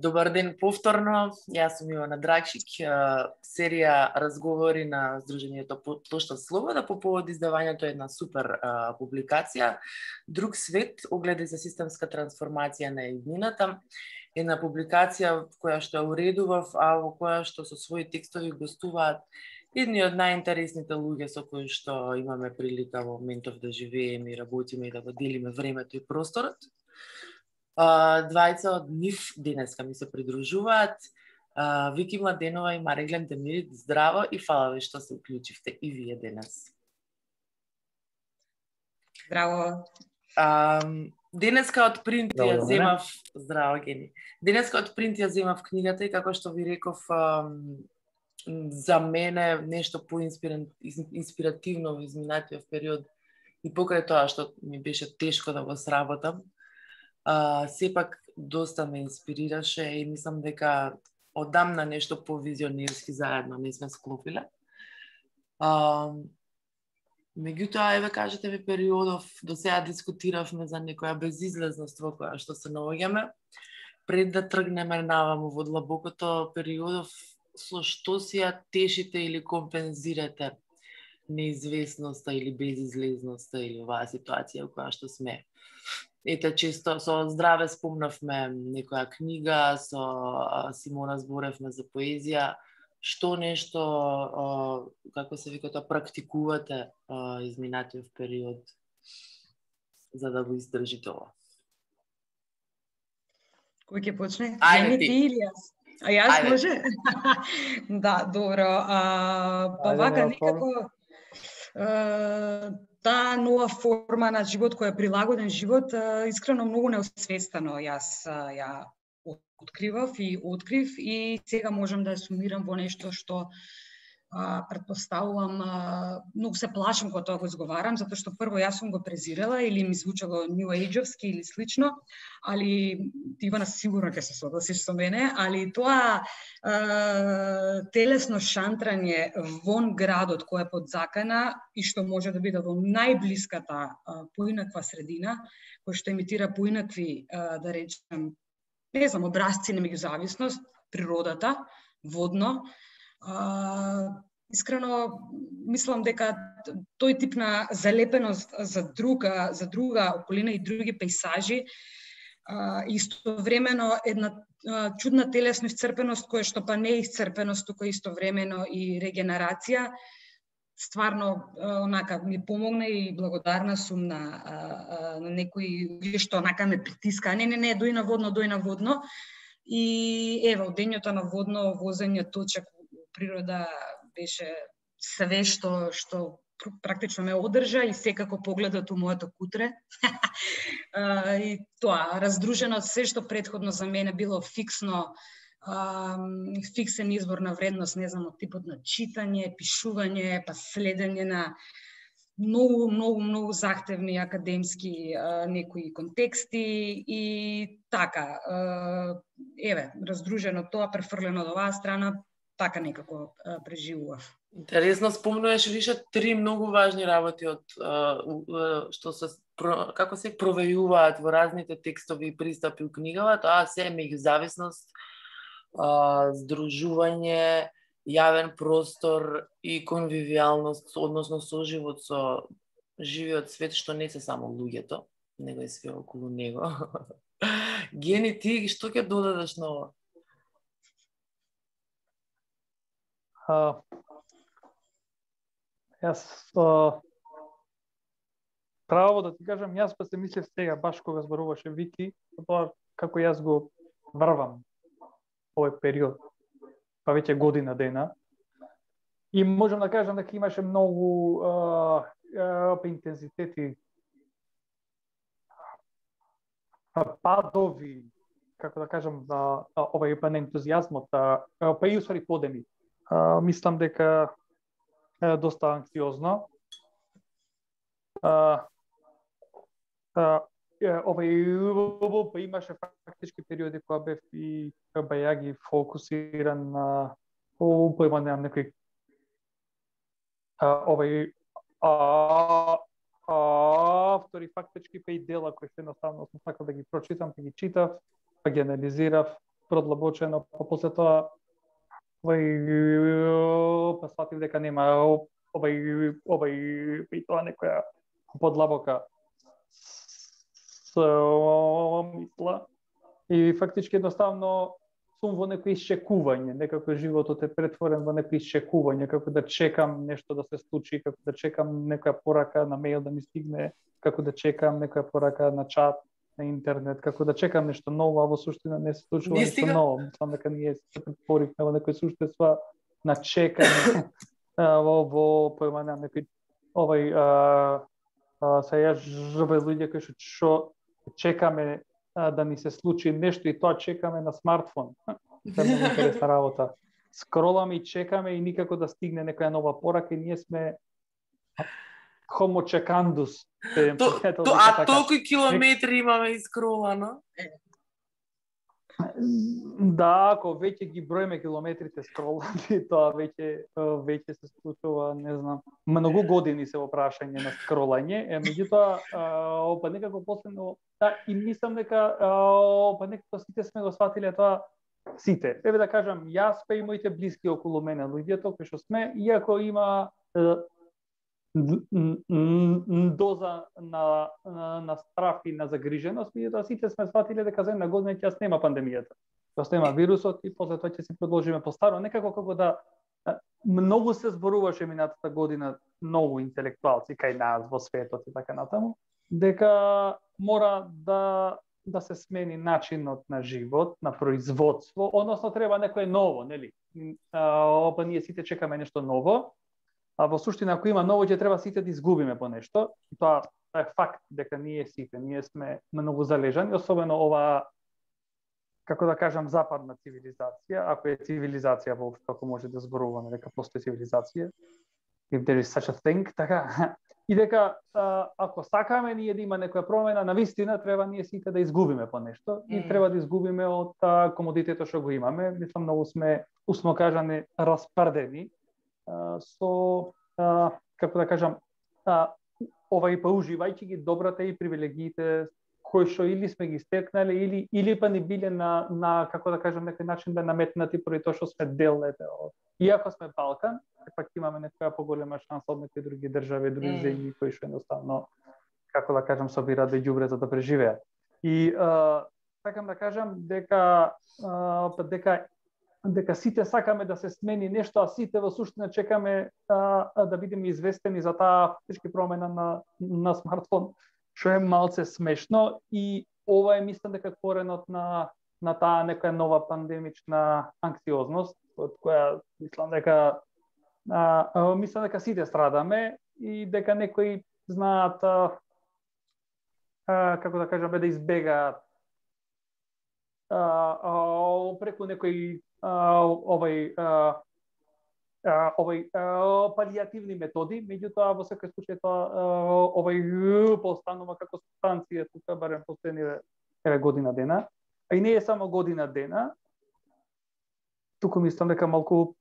Добар ден повторно. Јас сум Ивана Драгшик, серија разговори на Сдруженијето Плошта Слобода по повод издавањето една супер публикација Друг свет, огледи за системска трансформација на иднината. Една публикација која што ја уредував, а во која што со своји текстови гостуваат едни од најинтересните луѓе со кои што имаме прилика во моментов да живееме и работиме и да го делиме времето и просторот. Двајца од нив денеска ми се придружуваат. Вики Младенова и Мариглен Демирит, здраво и фала ви што се уклучивте и вие денес. Здраво. Денеска од принт ја земав, здраво Гени. Денеска од принт ја земав книгата и како што ви реков, за мене нешто поинспиративно во изминатиот период и покрај тоа што ми беше тешко да го сработам. Сепак доста ме инспирираше и мислам дека одамна нешто повизионерски заедно не сме склопиле. Меѓутоа, еве кажете ми периодов, до сега дискутиравме за некоја безизлезност во која што се наоѓаме. Пред да тргнеме наваму во длабокото периодов, со што си ја тешите или компензирате неизвестноста или безизлезноста или оваа ситуација во која што сме? Ете, често со Здраве спомнавме некоја книга, со Симона зборевме за поезија. Што нешто, како се вика тоа, практикувате изминатиот период за да го издржите ова? Кој ќе почне? Ајде ти или јас? А јас може? Да, добро. Па вака некако таа нова форма на живот која е прилагоден живот, искрено многу неосвестено јас ја откривав и открив и сега можам да ја сумирам во нешто што претпоставувам, многу се плашам кога тоа го изговарам, затоа што прво јас сум го презирала или ми звучало New Age-овски или слично, али Ивана сигурно ќе се согласиш со мене, али тоа телесно шантрање вон градот кој е под закана и што може да биде во најблиската поинаква средина, кој што емитира поинакви, да речем, не знам, образци на меѓузависност, природата, водно, искрено мислам дека тој тип на залепеност за друга околина и други пејсажи, истовремено една чудна телесна исцрпеност која што па не е исцрпеност, туку истовремено и регенерација, стварно онака ми помогна и благодарна сум на некои што онака ме притиска. Не, дој на водно. И ево, дењето на водно возење точак природа беше све што практично ме одржа и секако погледот у моето кутре. И тоа, раздружено од се што претходно за мене било фиксно, фиксен извор на вредност, не знам, од типот на читање, пишување, па следење на многу захтевни академски некои контексти и така. Еве, раздружено тоа, префрлено од оваа страна, така некако преживував. Интересно, спомнуваш више 3 многу важни работи од што се како се провејуваат во разните текстови и пристапи у книгава, тоа се меѓузависност, здружување, јавен простор и конвивијалност, односно соживот со живиот свет, што не се само луѓето, него и све околу него. Гени, ти што ќе додадеш на ова? Јас право да ти кажам, јас па се мислев сега, баш кога зборуваше Вики, тоа како јас го врвам овој период, па веќе година дена. И можам да кажам дека имаше многу интензитети, падови, како да кажам, овај па на ентузијазмот, па и усвари подеми. Мислам дека доста анксиозно. Овај имаше фактички периоди кога бев и бајаги фокусиран на поимање на некои автори фактички па и дела кои се едноставно сакал да ги прочитам, па ги читав, па ги анализирав, продлабочено, па после тоа па сватив дека нема и тоа некоја подлабока мисла. И фактички едноставно сум во некој исчекување, некако животот е претворен во некој исчекување, како да чекам нешто да се случи, како да чекам некоја порака на мејл да ми стигне, како да чекам некоја порака на чат, на интернет, како да чекам нешто ново, а во суштина не се случува нешто ново. Мислам дека ние се претворивме во некој суштества на чекање во поемање на некој се ја жабе луѓе кои што чекаме да ни се случи нешто и тоа чекаме на смартфон. Тоа е многу интересна работа. Скроламе и чекаме и никако да стигне некоја нова порака и ние сме homo checandus. Толку километри имаме искролано? Да, ако веќе ги броиме километрите скролани, тоа веќе се случува, не знам, многу години се во прашање на скролање, меѓутоа па некако последно, да, и мислам дека па некако сите сме го сватиле тоа, сите. Еве да кажам, јас па и моите блиски околу мене, луѓето кои што сме, иако има доза на страф и на загриженост, меѓутоа сите сме сватиле дека за една година ќе снема пандемијата. Ќе снема вирусот и после тоа ќе се продолжиме постаро. Некако како да многу се зборуваше минатата година, многу интелектуалци кај нас во светот и така натаму, дека мора да се смени начинот на живот, на производство, односно треба некое ново, нели? Па ние сите чекаме нешто ново. А во суштина, ако има ново, ќе треба сите да изгубиме по нешто. Тоа е факт дека ние сме многу залежани, особено ова, како да кажам, западна цивилизација, ако е цивилизација воопшто, ако може да зборуваме дека постои цивилизација, if there is such a thing, така. И дека ако сакаме ние да има некоја промена, навистина треба ние сите да изгубиме по нешто и треба да изгубиме од комодитетот што го имаме. Мислам, многу сме, усно кажане, распрдени со, како да кажам, па уживајќи ги добрата и привилегиите кои што или сме ги стекнале, или па не биле на како да кажам, некој начин да наметнати поради тоа што сме дел, иако сме Балкан, пак имаме некоја поголема шанса од некои други држави, други земји кои што едноставно, како да кажам, собираат да ѓубре за да преживеат. И сакам да кажам дека сите сакаме да се смени нешто, а сите во суштина чекаме да бидеме известени за таа фактички промена на смартфон, што е малце смешно и ова е, мислам дека коренот на таа некоја нова пандемична анксиозност, од која мислам дека сите страдаме и дека некои знаат како да кажам, да избегаат преку некои палијативни методи, меѓутоа во секој случај тоа постанува како субстанција тука барем последниве година дена, а и не е само година дена, туку мислам дека малку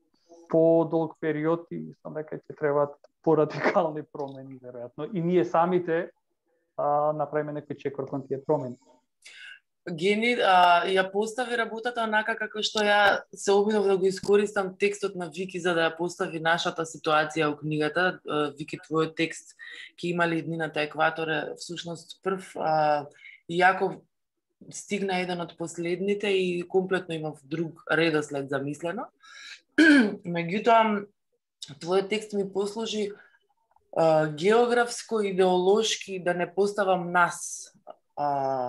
подолг период и мислам дека ќе требаат порадикални промени веројатно и ние самите направиме некој чекор кон тие промени. Гени ја постави работата онака како што ја се обидов да го искористам текстот на Вики за да ја постави нашата ситуација во книгата. Вики, твојот текст ќе имали днината екватор е всушност прв, иако стигна еден од последните и комплетно имав друг редослед замислено. Меѓутоа, твојот текст ми послужи географско, идеолошки да не поставам нас,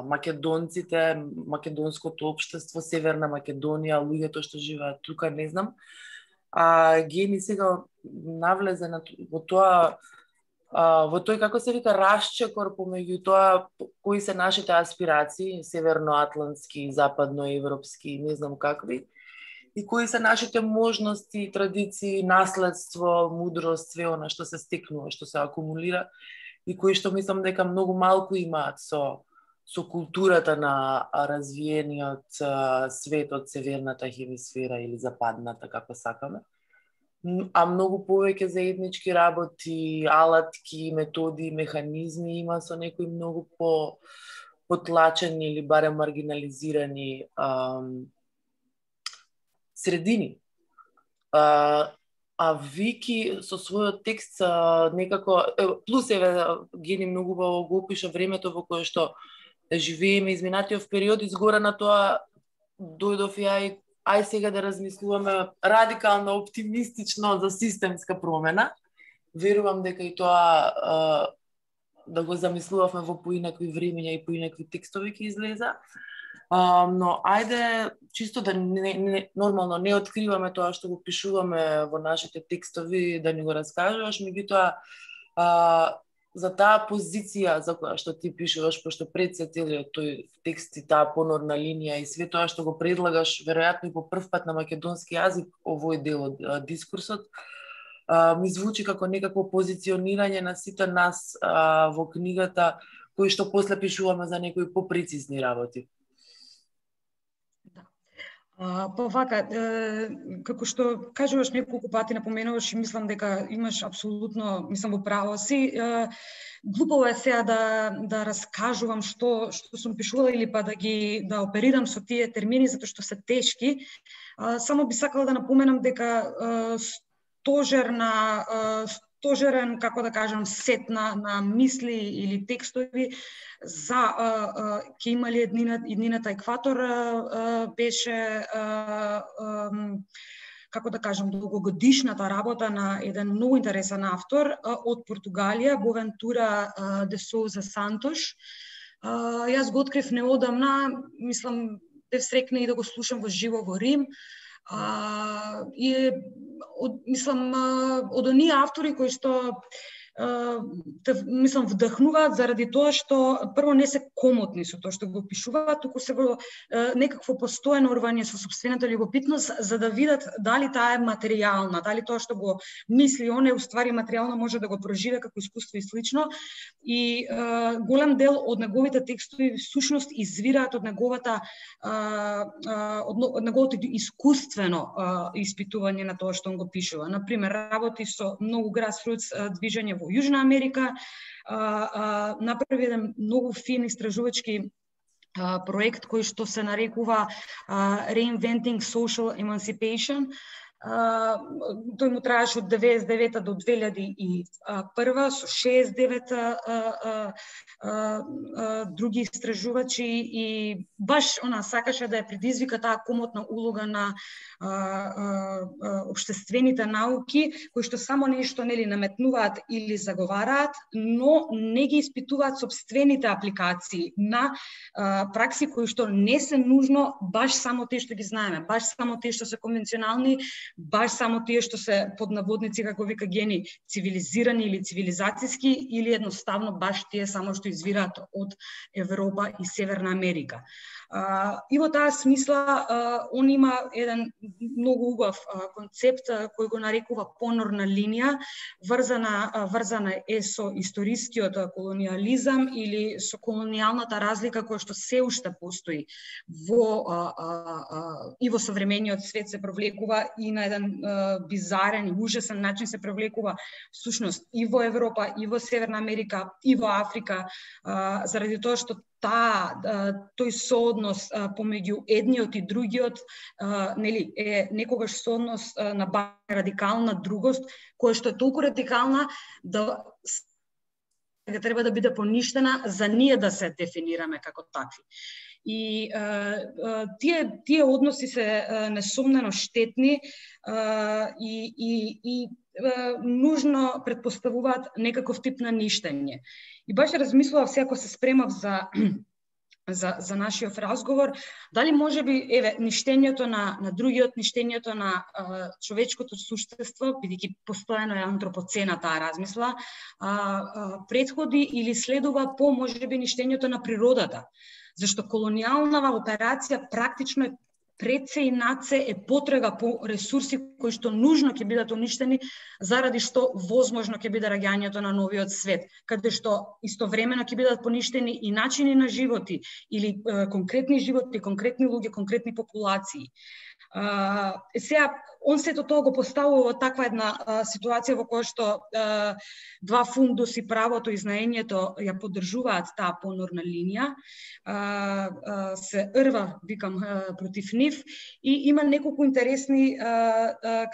македонците, македонското општество, Северна Македонија, луѓето што живеат тука, не знам. Гени сега навлезе во тоа, во тој, како се вика, расчекор помеѓу тоа кои се нашите аспирации, северноатлантски, западноевропски, не знам какви, и кои се нашите можности, традиции, наследство, мудрост, све она што се стекнува, што се акумулира и кои што мислам дека многу малку имаат со културата на развиениот свет од северната хемисфера или западната, како сакаме. А многу повеќе заеднички работи, алатки, методи, механизми има со некои многу потлачени или барем маргинализирани средини. А Вики со својот текст некако, плюс Гени многу убаво го опиша времето во кое што живееме, изминатиот период, изгора на тоа дојдов и ај сега да размислуваме радикално, оптимистично за системска промена. Верувам дека и тоа да го замислувавме во поинакви времења и поинакви текстови ќе излеза. Но ајде чисто да нормално не откриваме тоа што го пишуваме во нашите текстови, да ни го раскажуваш, меѓутоа за таа позиција за која што ти пишуваш, пошто пред се целиот тој текст и таа понорна линија и све тоа што го предлагаш, веројатно и по прв пат на македонски јазик овој дел од дискурсот, ми звучи како некакво позиционирање на сите нас во книгата, кои што после пишуваме за некои попрецизни работи. Па вака, како што кажуваш неколку пати, напоменуваш и мислам дека имаш апсолутно, мислам во право си. Глупаво е сега да раскажувам што сум пишувала или па да оперирам со тие термини затоа што се тешки. Само би сакала да напоменам дека стожерен, како да кажам, сет на мисли или текстови за ќе имали еднината екватор беше како да кажам долгогодишната работа на еден многу интересен автор од Португалија, Бовентура де Соуза Сантош. Јас го открив неодамна, мислам бев срекна и да го слушам во живо во Рим. И мислам од оние автори кои што мислам вдахнуваат заради тоа што прво не се комотни со тоа што го пишуваат, туку се во некакво постојано орвање со сопствената љубопитност за да видат дали таа е материјална, дали тоа што го мисли он е уствари материјално, може да го проживе како искуство и слично. И голем дел од неговите текстови всушност извираат од неговото искуствено испитување на тоа што он го пишува. Например, работи со многу grassroots движење во Јужна Америка, направи еден многу фин истражувачки проект кој што се нарекува Reinventing Social Emancipation. Тој му траеше од 99 до 2001 со 69 други истражувачи и баш она сакаше да ја предизвика таа комотна улога на општествените науки, кои што само нешто нели наметнуваат или заговараат, но не ги испитуваат сопствените апликации на пракси кои што не се нужно баш само тие што ги знаеме, баш само тие што се конвенционални, баш само тие што се под наводници, како вика Гени, цивилизирани или цивилизацијски, или едноставно баш тие само што извираат од Европа и Северна Америка. И во таа смисла, он има еден многу убав концепт кој го нарекува понорна линија, врзана е со историскиот колониализам или со колонијалната разлика која што се уште постои и во современиот свет се провлекува и на еден бизарен и ужасен начин се провлекува всушност и во Европа, и во Северна Америка, и во Африка, заради тоа што тој сооднос помеѓу едниот и другиот нели е некогаш сооднос на радикална другост, која што е толку радикална да треба да биде поништена за ние да се дефинираме како такви. И тие односи се несомнено штетни и нужно предпоставуваат некаков тип на ништење. И баш размислував сега кога се спремав за нашиот разговор, дали можеби ништењето на другиот, ништењето на човечкото суштество, бидејќи постојано е антропоцена таа размисла, претходи или следува по можеби ништењето на природата. Зашто колонијална операција практично е пред се и над се е потрега по ресурси кои што нужно ќе бидат уништени заради што возможно ќе биде раѓањето на новиот свет, каде што истовремено ќе бидат поништени и начини на животи или конкретни животи, конкретни луѓе, конкретни популации. Сега, он сето тоа го поставува во таква една ситуација во која што два фундуси, правото и знаењето ја поддржуваат таа понорна линија, се рва, викам, против нив и има неколку интересни,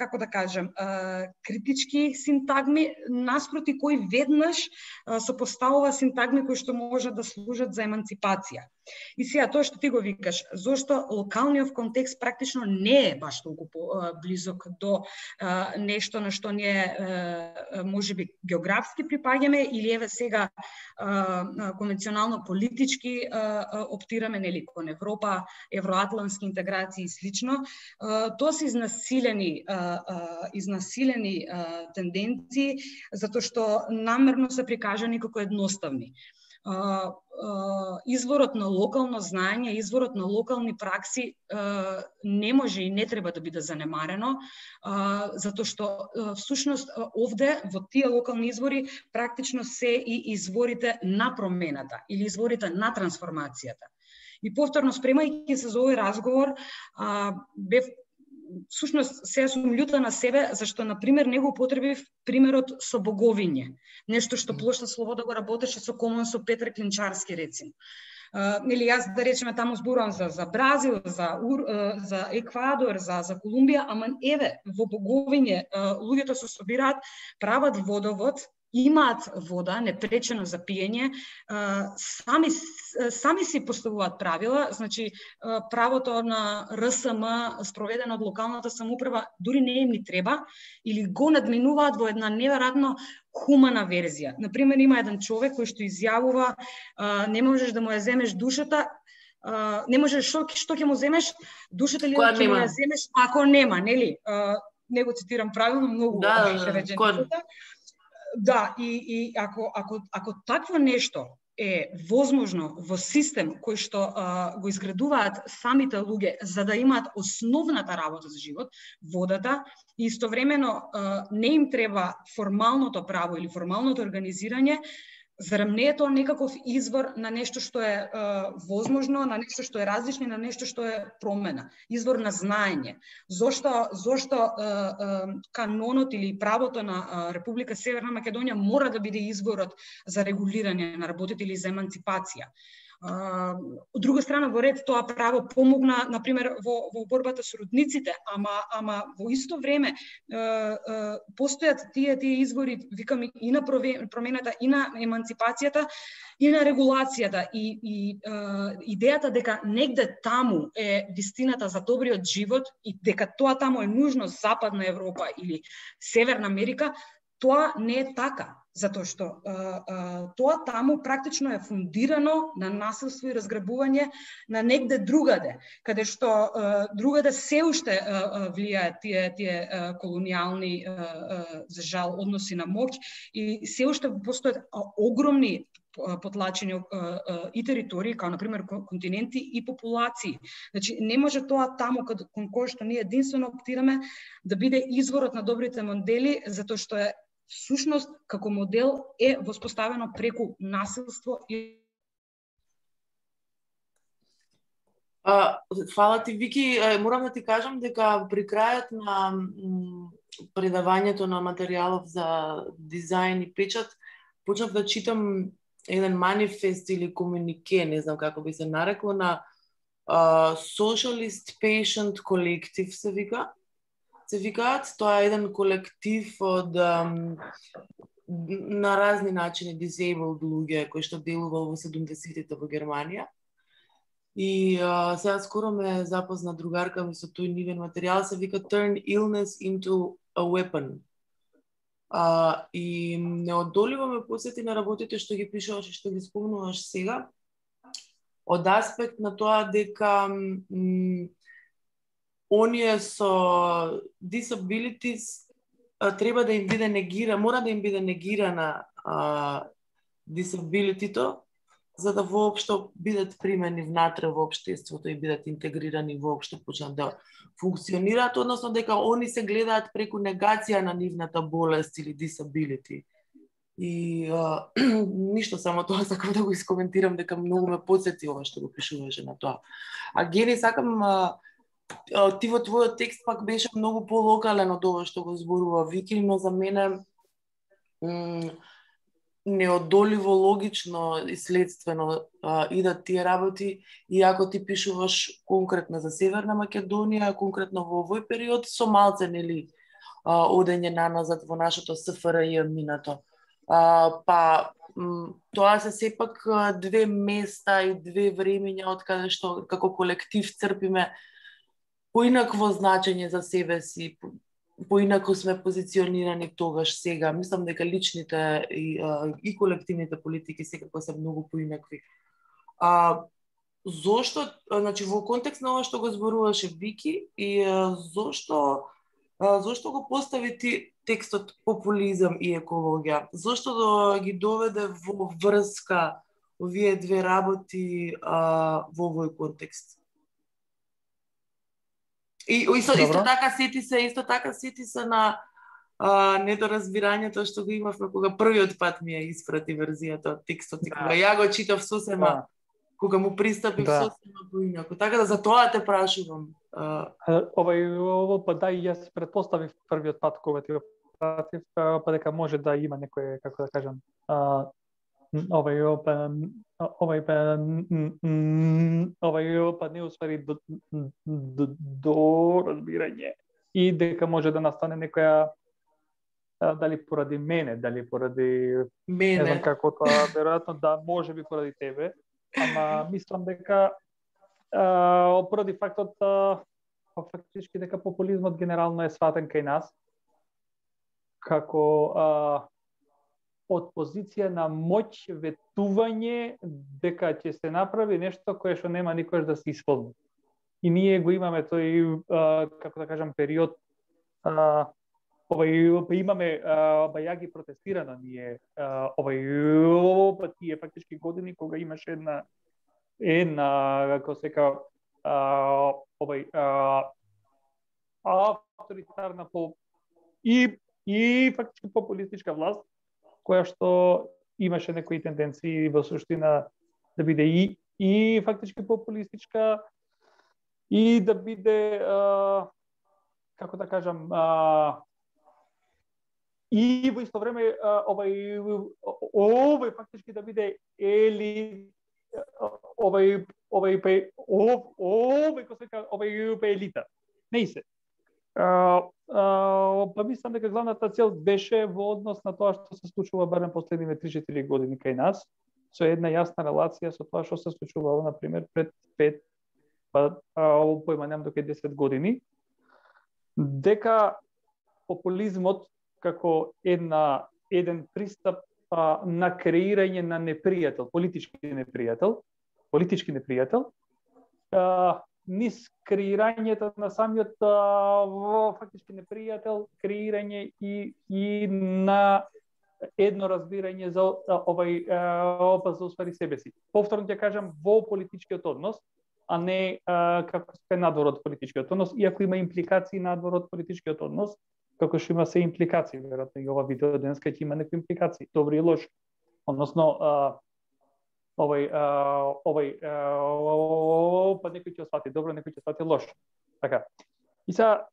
како да кажем, критички синтагми, наспроти кои веднаш сопоставува синтагми кои што можат да служат за еманципација. И сега тоа што ти го викаш, зошто локалниот контекст практично не е баш толку близок до нешто на што ние можеби географски припаѓаме или еве сега конвенционално политички оптираме нели кон Европа, евроатлантски интеграции и слично. Тоа се изнасилени тенденции затоа што намерно се прикажани како едноставни. Изворот на локално знаење, изворот на локални пракси не може и не треба да биде занемарено, затоа што всушност овде во тие локални извори практично се и изворите на промената или изворите на трансформацијата. И повторно спремајќи се за овој разговор, бев всушност се сум љута на себе зашто на пример не го употребив примерот со боговиње, нешто што Плошта Слобода го работеше со Комон со Петар Клинчарски рецимо. Или јас да речеме таму зборувам за Бразил, за Еквадор, за Колумбија, ама еве во боговиње луѓето се собираат, прават водовод, имаат вода непречено за пиење, сами си поставуваат правила, значи правото на РСМ спроведено од локалната самоуправа дури не им ни треба или го надминуваат во една неверојатно хумана верзија. Например, има еден човек кој што изјавува не можеш да му ја земеш душата, не можеш што ќе му земеш душата или ќе му ја земеш ако нема, нели? Не го цитирам правилно, многу реченицата. Да, и ако такво нешто е возможно во систем кој што го изградуваат самите луѓе за да имаат основната работа за живот, водата, и истовремено не им треба формалното право или формалното организирање, зарем не е тоа некаков извор на нешто што е возможно, на нешто што е различно, на нешто што е промена, извор на знаење. Зошто канонот или правото на Република Северна Македонија мора да биде изворот за регулирање на работите или за еманципација. Од друга страна, во ред тоа право помогна, например, во борбата со родниците, ама во исто време постојат тие извори, викам, и на промената, и на еманципацијата, и на регулацијата, и идејата дека негде таму е вистината за добриот живот и дека тоа таму е нужно Западна Европа или Северна Америка, тоа не е така. Затоа што тоа таму практично е фундирано на насилство и разграбување на негде другаде, каде што другаде се уште влијаат тие колонијални, за жал, односи на моќ и се уште постојат огромни потлачени и територии, као например континенти и популации. Значи не може тоа таму кон кој што ние единствено оптираме да биде изворот на добрите модели, затоа што е всушност како модел е воспоставено преку насилство и Фала ти, Вики. Морам да ти кажам дека при крајот на предавањето на материјалов за дизајн и печат почнав да читам еден манифест или комунике, не знам како би се нарекло, на Socialist Patient Collective се викаат. Тоа е еден колектив од на разни начини disabled луѓе кои што делувал во 70-тите во Германија. И сега скоро ме запозна другарка ми со тој нивен материјал, се вика Turn Illness into a Weapon. И неодоливо ме посети на работите што ги пишуваш и што ги спомнуваш сега, од аспект на тоа дека оние со disabilities треба да им биде мора да им биде негирана disability-то, за да воопшто бидат примени внатре во општеството и бидат интегрирани воопшто почнат да функционираат, односно дека они се гледаат преку негација на нивната болест или disability. И ништо, само тоа сакам да го искоментирам, дека многу ме подсети ова што го пишуваше на тоа. Гени, сакам ти во твојот текст пак беше многу полокален од ова што го зборува Вики, но за мене неодоливо логично и следствено идат тие работи, и ако ти пишуваш конкретно за Северна Македонија, конкретно во овој период, со малце нели одење наназад во нашето СФРЈ минато. Па тоа се сепак две места и две времења од каде што како колектив црпиме поинакво значење за себе си, поинако сме позиционирани тогаш, сега. Мислам дека личните и колективните политики секако се многу поинакви. Зошто, значи во контекст на ова што го зборуваше Вики, и зошто го постави ти текстот популизам и екологија? Зошто ги доведе во врска овие две работи во овој контекст? И исто така сети се на недоразбирањето што го имавме кога првиот пат ми ја испрати верзијата од текстот, и кога ја го читав сосема, кога му пристапив сосема поинаку. Така да за тоа те прашувам. Ово па да, и јас претпоставив првиот пат кога ти го пратив, па дека може да има некој, како да кажам, па не уствари до разбирање, и дека може да настане некоја, дали поради мене, дали поради не знам како тоа, веројатно да, може би поради тебе, ама мислам дека поради фактот фактички дека популизмот генерално е сватен кај нас како од позиција на моќ, ветување дека ќе се направи нешто кое што нема никош да се исполни. И ние го имаме тој, како да кажам, период, имаме ја ги протестирано ние тие фактички години кога имаше една како сека авторитарна и фактички популистичка власт, која што имаше некои тенденции во суштина да биде и фактички популистичка, и да биде како да кажам, и во исто време овој фактички да биде елита. Не се. Па мислам дека главната цел беше во однос на тоа што се случува барем последниве 3-4 години кај нас, со една јасна релација со тоа што се случувало, например, пред 5, па појманем до 10 години, дека популизмот како еден пристап на креирање на непријател, политички непријател, низ креирањето на самиот фактички непријател, креирање и на едно разбирање за за уствари себе си. Повторно ќе кажам, во политичкиот однос, а не како се надвор од политичкиот однос, иако има импликации надвор од политичкиот однос, како што има се импликации, веројатно и ова видео денеска ќе има некои импликации, добри и лоши. Односно, па некој ќе свати добро, некој ќе свати лошо. Така. И сега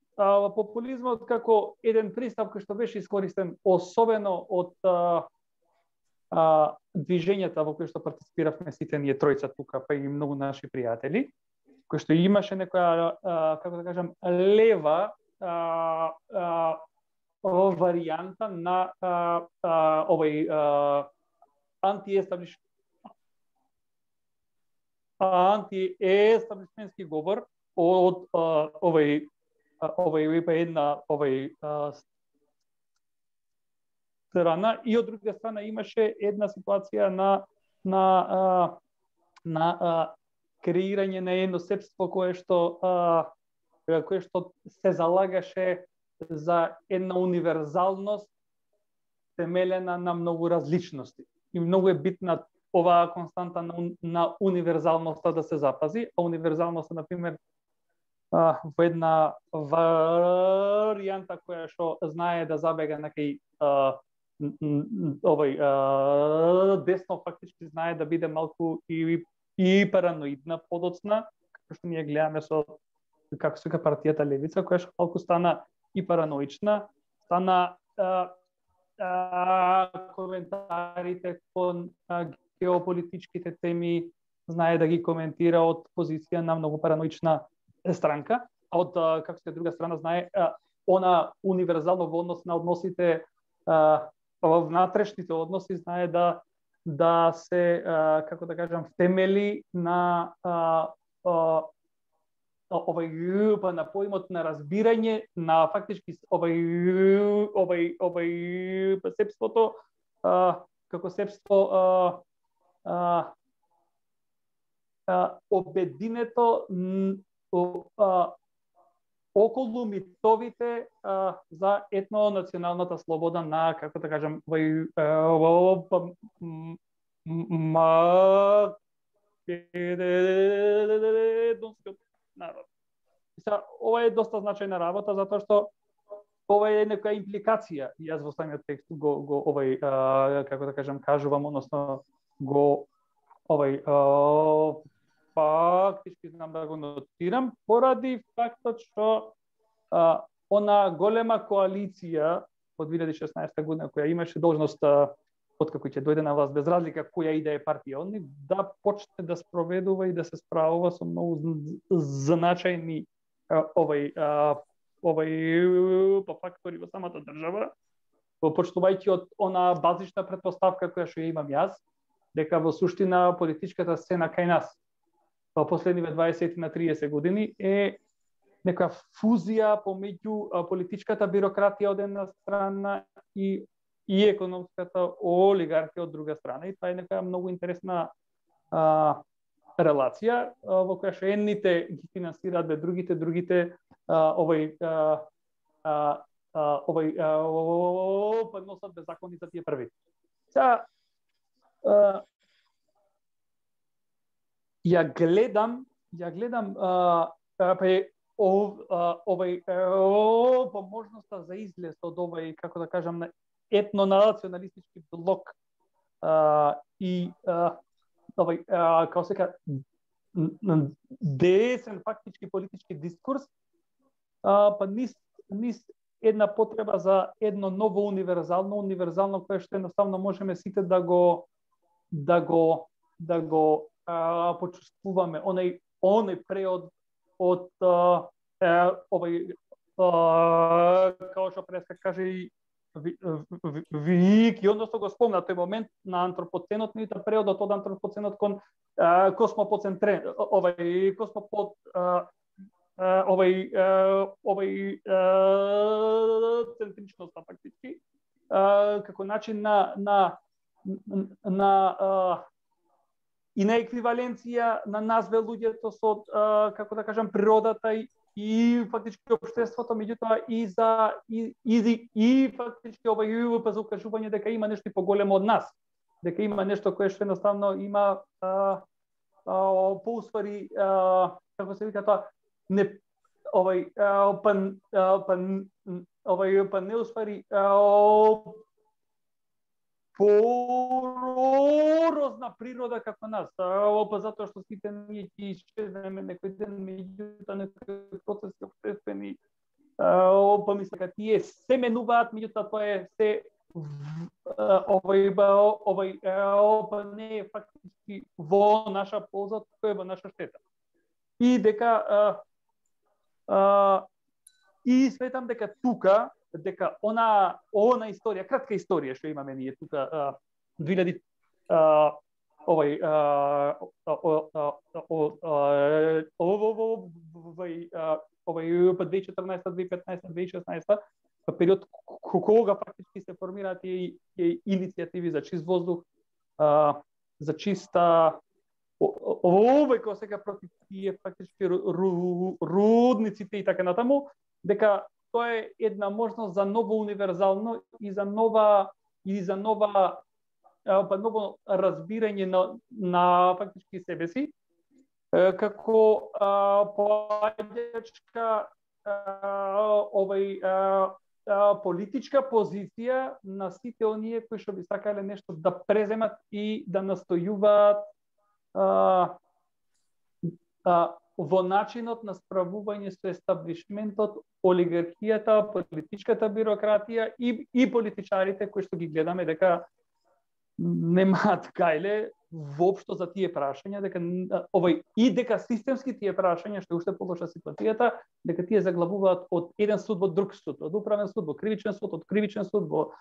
популизмот како еден пристап кој што беше искористен особено од движењата во кои што партиципиравме сите ние тројца тука, па и многу наши пријатели, кои што имаше некоја, како да кажам, лева варијанта на антиестаблишментски говор од една страна, и од друга страна имаше една ситуација на креирање на едно себство кое што се залагаше за една универзалност темелена на многу различности. И многу е битна оваа константа на универзалноста да се запази, а универзалноста, например, во една варијанта која што знае да забега некај десно, фактички знае да биде малку и параноидна, подоцна, како што ние гледаме со како се партијата Левица, која што малку стана и параноична, стана коментарите кон геополитичките теми знае да ги коментира од позиција на многу параноична странка, а од како се друга страна знае она универзално во однос на односите во внатрешните односи знае да се како да кажам темели на на поимот на разбирање на фактички себството како себство обединето околу митовите за етнонационалната слобода на, како да кажам, македонскиот народ. Ова е доста значајна работа, затоа што ова е некоја импликација. Јас во самиот текст го како да кажам, кажувам, односно го фактички знам да го нотирам, поради фактот што она голема коалиција од 2016 година, која имаше должност, откако ќе дојде на власт, без разлика која и да е партија, они да почне да спроведува и да се справува со многу значајни фактори во самата држава, почнувајќи од она базична претпоставка која што ја имам јас, дека во суштина политичката сцена кај нас во последниве 20 на 30 години е некоја фузија помеѓу политичката бирократија од една страна и економската олигархија од друга страна. И тоа е некоја многу интересна релација во која што едните ги финансираат бе другите носат беззакони за тие први. Ја гледам можноста за излез од овој, како да кажам, етнонационалистички блок и како се ка десен фактички политички дискурс, па низ една потреба за едно ново универзално кое што едноставно можеме сите да го почувствуваме, оној преод од како што преска каже и Вики, односно го спомна тој момент на антропоценот, и преодот од антропоценот кон центричноста фактички, како начин на и на еквиваленција на нас луѓето со, како да кажам, природата и фактички општеството, меѓутоа и фактички за укажување дека има нешто поголемо од нас, дека има нешто кое што едноставно има поуствари, како се вика тоа, не не уствари порозна природа како нас. Затоа што сите ние ќе исчезнеме некој ден, меѓутоа некои процеси општествени, мислам дека тие се менуваат, меѓутоа тоа е се не е фактички во наша полза, тоа е во наша штета. И дека и сметам дека тука она историја, кратка историја што имаме ние тука 2000 2014, 2015, 2016 период кога фактички се формираат и иницијативи за чист воздух, за чиста кога сега против тие фактички рудниците и така натаму, дека тоа е една можност за ново универзално и за ново разбирање на фактички себе си, како поаѓачка политичка позиција на сите оние кои што би сакале нешто да преземат и да настојуваат во начинот на справување со естаблишментот, олигархијата, политичката бирократија и политичарите кои што ги гледаме дека немаат гајле воопшто за тие прашања, дека дека системски тие прашања, што уште полоша ситуацијата, дека тие заглавуваат од еден суд во друг суд, од управен суд во кривичен суд, од кривичен суд во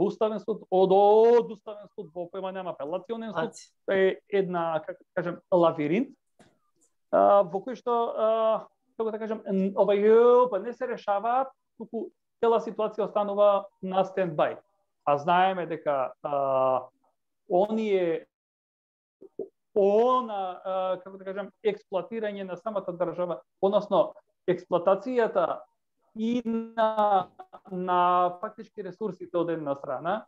уставен суд, од уставен суд во поемања апелационен суд, е една, како кажем, лавиринт, во кој што, како да кажем, не се решаваат, туку цела ситуација останува на стендбај. А знаеме дека како да кажем, експлоатирање на самата држава, односно експлоатацијата и на фактички ресурсите од една страна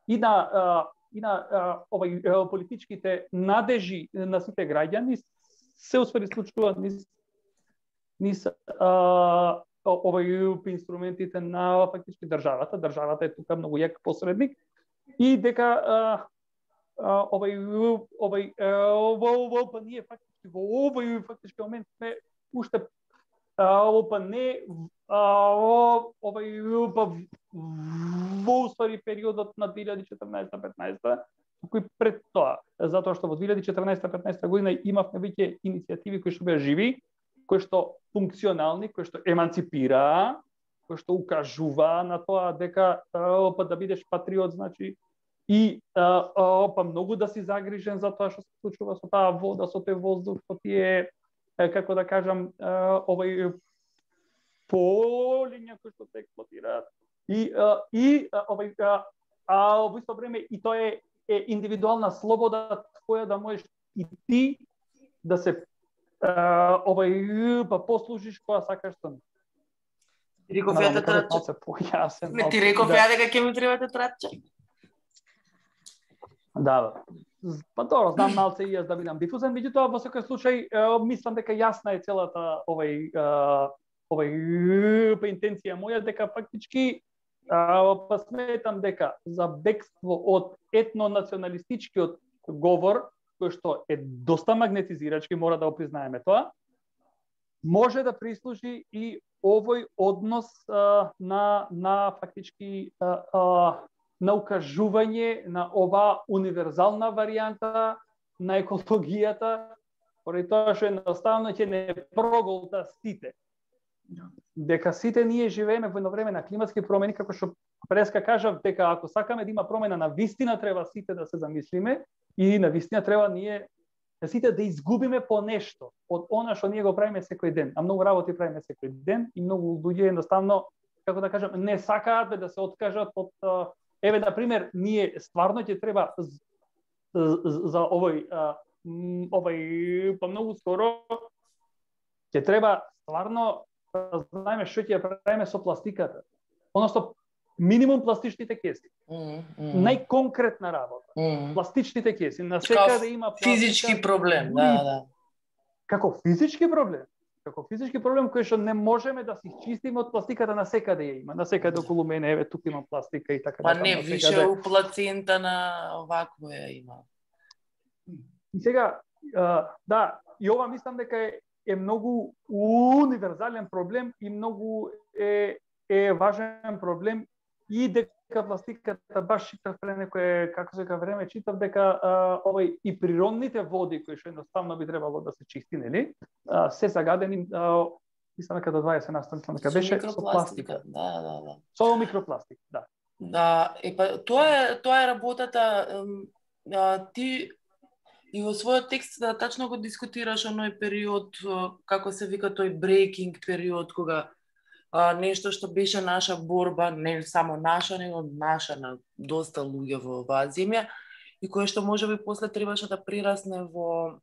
и на политичките надежи на сите граѓани се успели случуваат низ инструментите на фактички државата. Државата е тука многу јак посредник и дека ние фактички во овој фактички момент сме уште во уствари периодот на 2014-15, кој пред тоа, затоа што во 2014-15 година имавме веќе иницијативи кои што беа живи, кои што функционални, кои што еманципираа, кои што укажуваа на тоа дека да бидеш патриот значи и многу да си загрижен за тоа што се случува со таа вода, со тој воздух, со тие, како да кажам, полиња кои што се експлоатираат. Во исто време и тоа е индивидуална слобода твоја да можеш и ти да се послужиш кога сакаш тоа. Реков ја да тратче. Не ти реков ја дека ќе ми треба да тратче. Да. Па добро, знам малце и јас да бидам дифузен, меѓутоа во секој случај мислам дека јасна е целата интенција моја дека фактички сметам дека за бегство од етнонационалистичкиот говор, кој што е доста магнетизирачки, мора да го признаеме тоа, може да прислужи и овој однос на фактички на укажување на ова универзална варијанта на екологијата, поради тоа што едноставно ќе не проголта сите. Дека сите ние живееме во едно време на климатски промени, како што преска кажав, дека ако сакаме да има промена на вистина, треба сите да се замислиме и на вистина треба ние сите да изгубиме по нешто од она што ние го правиме секој ден. А многу работи правиме секој ден и многу луѓе едноставно, како да кажам, не сакаат да се откажат од еве, на пример, ние стварно ќе треба за овој па многу скоро ќе треба стварно да знаеме што ќе правиме со пластиката. Односно, минимум пластичните кеси. Најконкретна работа. Пластичните кеси. На секаде има пластика. Физички проблем, да. Како физички проблем? Како физички проблем кој што не можеме да си чистиме од пластиката, на секаде ја има. На секаде околу мене, еве, тука има пластика и така. Па не, више у плацента на овакво ја има. И сега, да, и ова мислам дека е многу универзален проблем и многу е важен проблем и дека пластиката баш читав пред некое, како се време, читав дека и природните води кои што едноставно би требало да се чисти, нели? Се загадени, мислам дека до 20% дека беше со пластика. Да. Со микропластик, да. Да, тоа е работата. Ти и во својот текст тачно го дискутираш оној период, како се вика тој брейкинг период, кога нешто што беше наша борба, не само наша, него наша на доста луѓе во оваа земја, и кое што можеби после требаше да прерасне во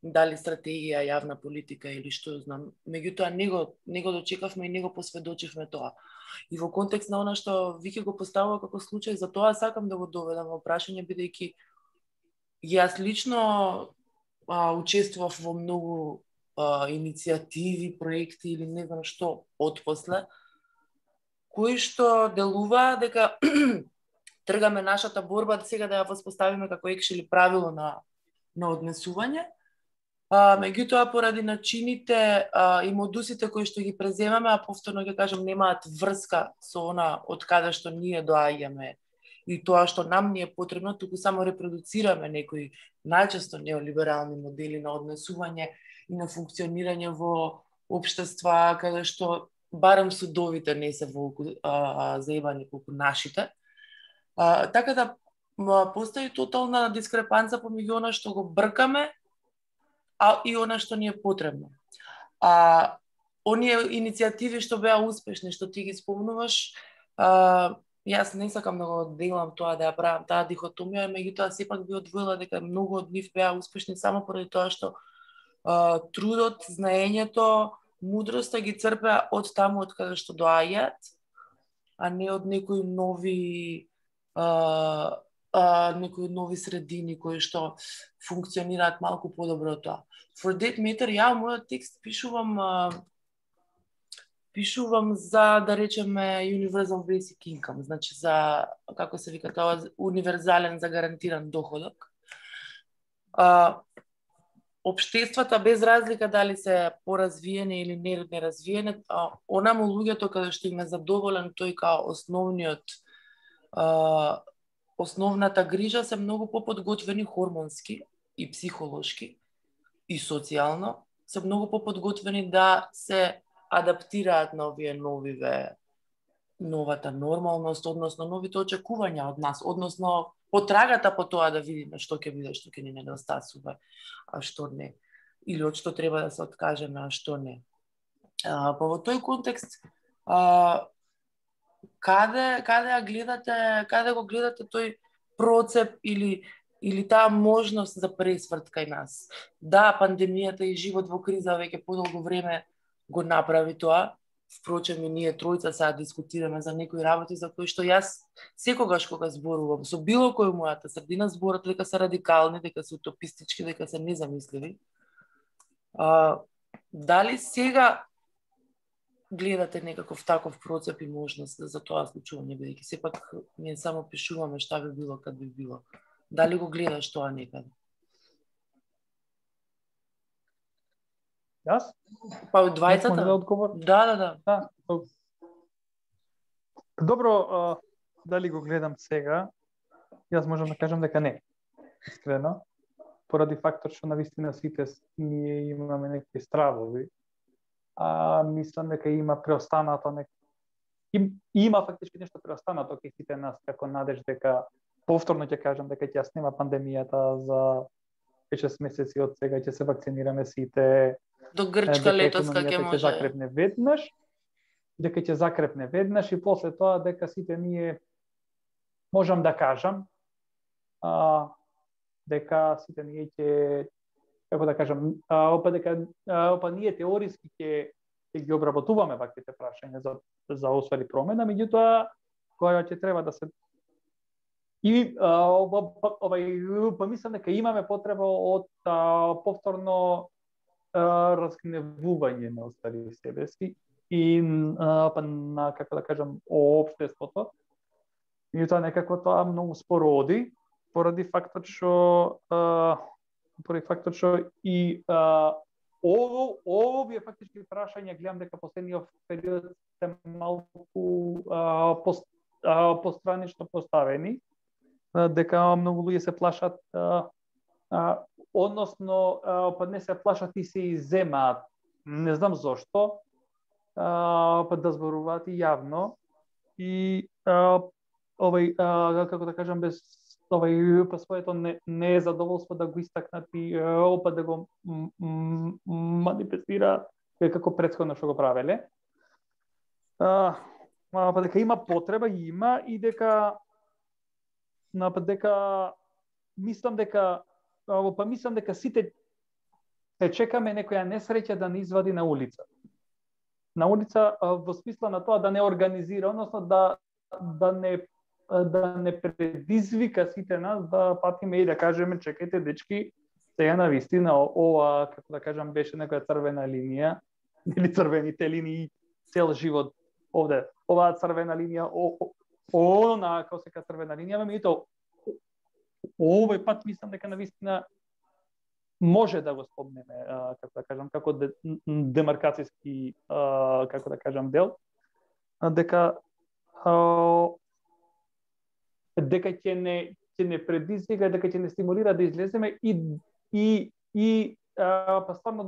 дали стратегија, јавна политика или што знам. Меѓутоа не го дочекавме и не го посведочивме тоа. И во контекст на она што Вики го поставува како случај, за тоа сакам да го доведам во прашање, бидејќи јас лично учествував во многу иницијативи, проекти или не знам што отпосле, кои што делува дека тргаме нашата борба сега да ја воспоставиме како екшели правило на однесување, Меѓутоа, поради начините и модусите кои што ги преземаме, а повторно ќе кажам, немаат врска со она од каде што ние доаѓаме и тоа што нам ни е потребно, туку само репродуцираме некои најчесто неолиберални модели на однесување и на функционирање во општества каде што барем судовите не се волку заебани колку нашите. Така да постои тотална дискрепанца помеѓу она што го бркаме и она што ни е потребно. Оние иницијативи што беа успешни, што ти ги спомнуваш, јас не сакам да го делам тоа, да ја правам таа дихотомија, меѓутоа сепак би одвоила дека многу од нив беа успешни само поради тоа што трудот, знаењето, мудроста ги црпеа од таму од каде што доаѓаат, а не од некои нови средини кои што функционираат малку подобро од тоа. For that matter, ја мојот текст пишувам за, да речеме, universal basic income, значи за, како се вика тоа, универзален загарантиран доходок. Општествата, без разлика дали се поразвиени или неразвиени, онаму луѓето каде што им е задоволен тој као основната грижа, се многу поподготвени хормонски и психолошки и социјално, се многу поподготвени да се адаптираат на овие новата нормалност, односно новите очекувања од нас, односно потрагата по тоа да видиме што ќе биде, што ќе ни недостасува, а што не. Или од што треба да се откажеме, а што не. Во тој контекст, каде го гледате тој процеп или таа можност за пресврт кај нас? Да, пандемијата и живот во криза веќе подолго време го направи тоа. Впрочем, и ние тројца сега дискутираме за некои работи за кои што јас секогаш кога зборувам со било кој мојата средина зборат дека се радикални, дека се утопистички, дека се незамисливи. Дали сега гледате некаков таков процеп и можност за тоа случување, бидејќи сепак ние само пишуваме што би било кад би било. Дали го гледаш тоа некаде? Јас? Па од двајцата? Да одговор? Да. Добро, дали го гледам сега? Јас можам да кажам дека не. Искрено. Поради фактор што навистина сите ние имаме некои стравови, мислам дека има преостанато има фактички нешто преостанато кај сите нас, како надеж дека повторно ќе кажам дека ќе ја снема пандемијата за 5-6 месеци од сега, ќе се вакцинираме сите. До Грчка летоска ќе може. Дека ќе закрепне веднаш и после тоа дека сите ние можам да кажам дека сите ние ќе, како да кажам, ние теориски ќе ги обработуваме ваквите прашања за освари промена, меѓутоа која ќе треба да се мислам дека имаме потреба од повторно разгневување на остави себе си и на, како да кажам, општеството. И тоа некако тоа многу споро оди, поради фактот што и овие фактички прашања гледам дека последниот период се малку постранично поставени, дека многу луѓе се плашат, односно не се плашат и се изземаат, не знам зошто, да зборуваат и јавно и како да кажам, без по своето незадоволство да го истакнат и да го манифестираат како претходно што го правеле. Дека има потреба, има, и дека мислам дека сите чекаме некоја несреќа да не извади на улица. На улица во смисла на тоа да не организира, односно да не предизвика сите нас да патиме и да кажеме чекајте дечки, сега навистина ова, како да кажам, беше некоја црвена линија, или црвените линии цел живот овде. Оваа црвена линија, она како се ка црвена линија, и тоа овој пат мислам дека навистина може да го спомнеме, како да кажам, како демаркацијски, како да кажам, дел, дека ќе не предизвика, дека ќе не стимулира да излеземе и стварно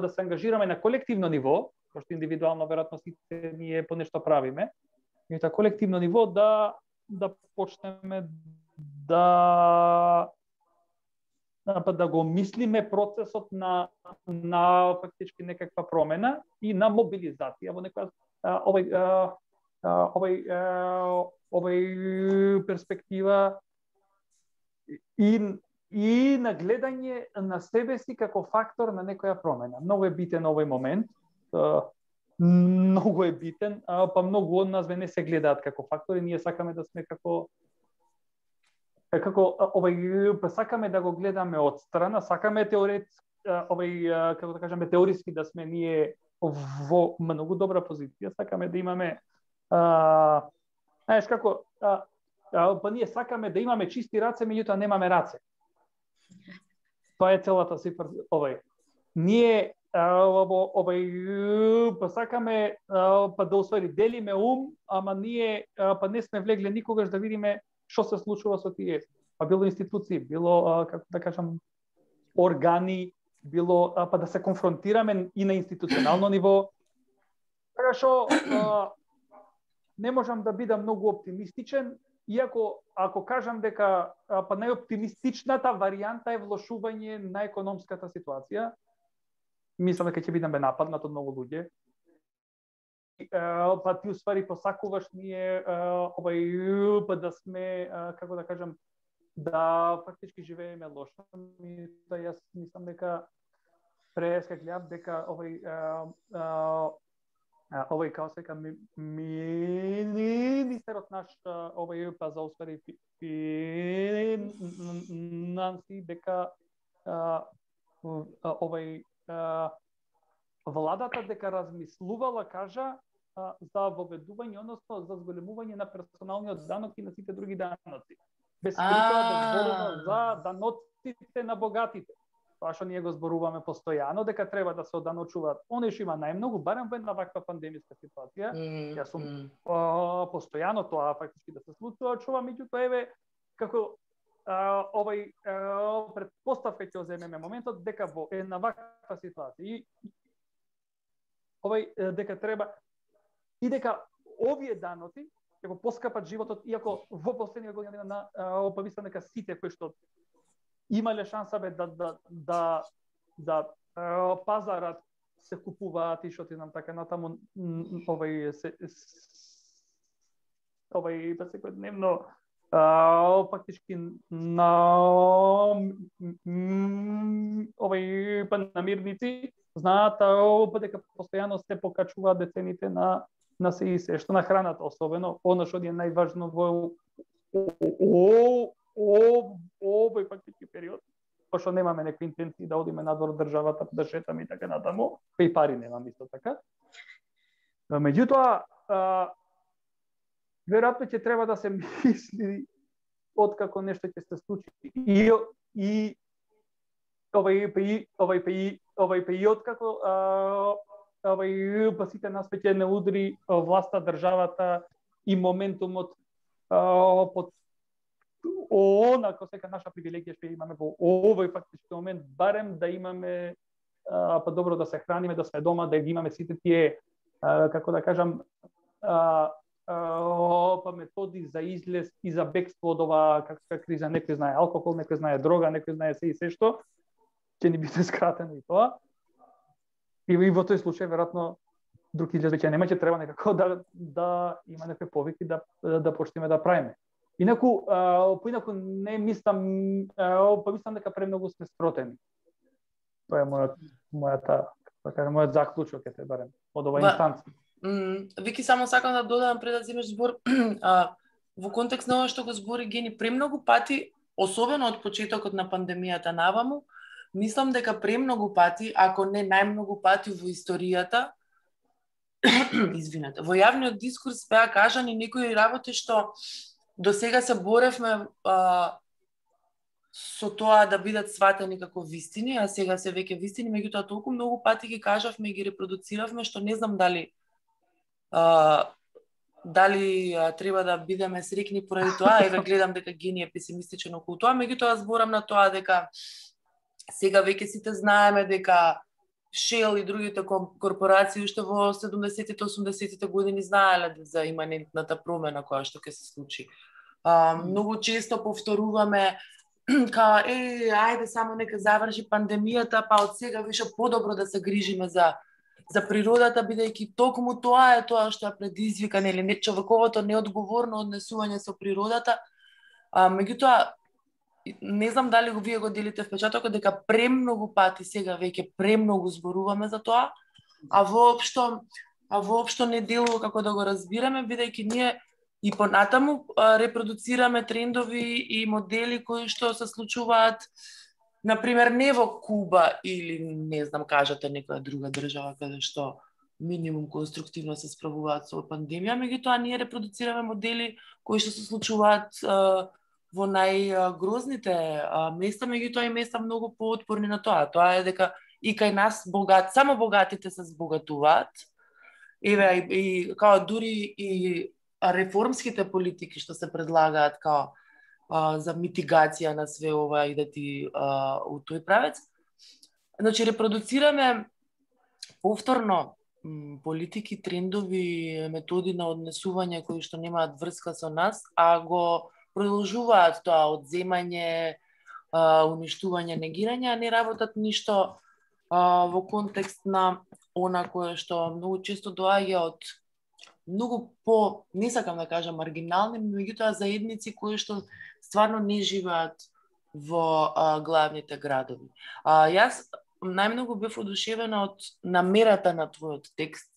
да се ангажираме на колективно ниво, пошто индивидуално веројатно сите ние по нешто правиме, и на колективно ниво да почнеме да го мислиме процесот на фактички некаква промена и на мобилизација во некоја овој перспектива и на гледање на себе си како фактор на некоја промена. Многу е битен овој момент. Многу е битен, па многу од нас не се гледаат како фактори, ние сакаме да сме како сакаме да го гледаме од страна, сакаме како да кажеме теориски да сме ние во многу добра позиција, сакаме да имаме знаеш како па ние сакаме да имаме чисти раце, меѓутоа немаме раце. Тоа е целата цифра ние па сакаме па да усвои делиме ум, ама ние па не сме влегле никогаш да видиме што се случува со тие. Па било институции, било како да кажам органи, било па да се конфронтираме и на институционално ниво. Така што не можам да бидам многу оптимистичен, иако ако кажам дека па најоптимистичната варијанта е влошување на економската ситуација, мислам дека ќе бидеме нападнат од многу луѓе. Па ти уствари посакуваш ние па да сме, како да кажам, да фактички живееме лошо. Да јас мислам дека преска гледам дека овој као сека министерот наш па за уствари финанси дека владата дека размислувала, кажа, за воведување, односно за зголемување на персоналниот данок и на сите други даноци. Без притоа да зборува за даноците на богатите. Тоа што ние го зборуваме постојано, дека треба да се оданочуваат оние што има најмногу, барем во една ваква пандемиска ситуација. Јас сум постојано тоа фактички да се случува, чувам, меѓутоа еве како предпоставка ќе земеме моментот дека во една ваква ситуација дека треба и дека овие даноци ќе го поскапат животот, иако во последниве години на мислам дека сите кои што имале шанса да пазарат се купуваат и што ти знам така натаму па секојдневно фактички на намирници знаат дека постојано се покачуваат децените на се и се, што на храната, особено, она што е најважно во овој фактички период, пошто немаме некои интенции да одиме надвор од државата, да шетаме и така натаму, и пари немам исто така. Меѓутоа, веројатно ќе треба да се мисли откако нешто ќе се случи и откако па сите нас ќе не удри власта, државата и моментумот под онако сека наша привилегија што имаме во овој фактички момент, барем да имаме па добро да се храниме, да сме дома, да ги имаме сите тие како да кажам па методи за излез и за бегство од оваа каква криза. Некој знае алкохол, некој знае дрога, некој знае се и се што ќе ни биде скратено и тоа. И во тој случај веројатно друг излез веќе нема, ќе треба некако да има некои повики да почнеме да правиме. Инаку не мислам, мислам дека премногу сме спротени. Тоа е мојот заклучок ете барем од оваа инстанција. Вики, само сакам да додадам пред да земеш збор, во контекст на ова што го збори Гени, премногу пати, особено од почетокот на пандемијата наваму, мислам дека премногу пати, ако не најмногу пати во историјата, извинете, во јавниот дискурс беа кажани некои работи што до сега се боревме со тоа да бидат сватени како вистини, а сега се веќе вистини, меѓутоа толку многу пати ги кажавме и ги репродуциравме, што не знам дали треба да бидеме срекни поради тоа. Еве гледам дека Гени е песимистичен околу тоа, меѓутоа зборам на тоа дека сега веќе сите знаеме дека Shell и другите корпорации уште во 70-тите, 80-тите години знаеле за иманентната промена која што ќе се случи. Многу често повторуваме ајде само нека заврши пандемијата, па од сега више подобро да се грижиме за природата, бидејќи токму тоа е тоа што ја предизвика човековото неодговорно однесување со природата. Меѓутоа, не знам дали вие го делите впечатокот дека премногу пати сега веќе премногу зборуваме за тоа, а воопшто не делува како да го разбираме, бидејќи ние и понатаму репродуцираме трендови и модели кои што се случуваат, например, не во Куба или, не знам, кажете некоја друга држава каде што минимум конструктивно се справуваат со пандемија, меѓутоа ние репродуцираме модели кои што се случуваат во најгрозните места, меѓутоа и места многу поотпорни на тоа. Тоа е дека и кај нас само богатите се збогатуваат. Еве и као дури и реформските политики што се предлагаат као за митигација на све ова и да ти у тој правец. Значи репродуцираме повторно политики, трендови, методи на однесување кои што немаат врска со нас, а го продолжуваат тоа одземање, уништување, негирање, а не работат ништо во контекст на она кое што многу често доаѓа од многу не сакам да кажам маргинални, меѓутоа заедници кои што стварно не живеат во главните градови. Јас најмногу бев одушевена од намерата на твојот текст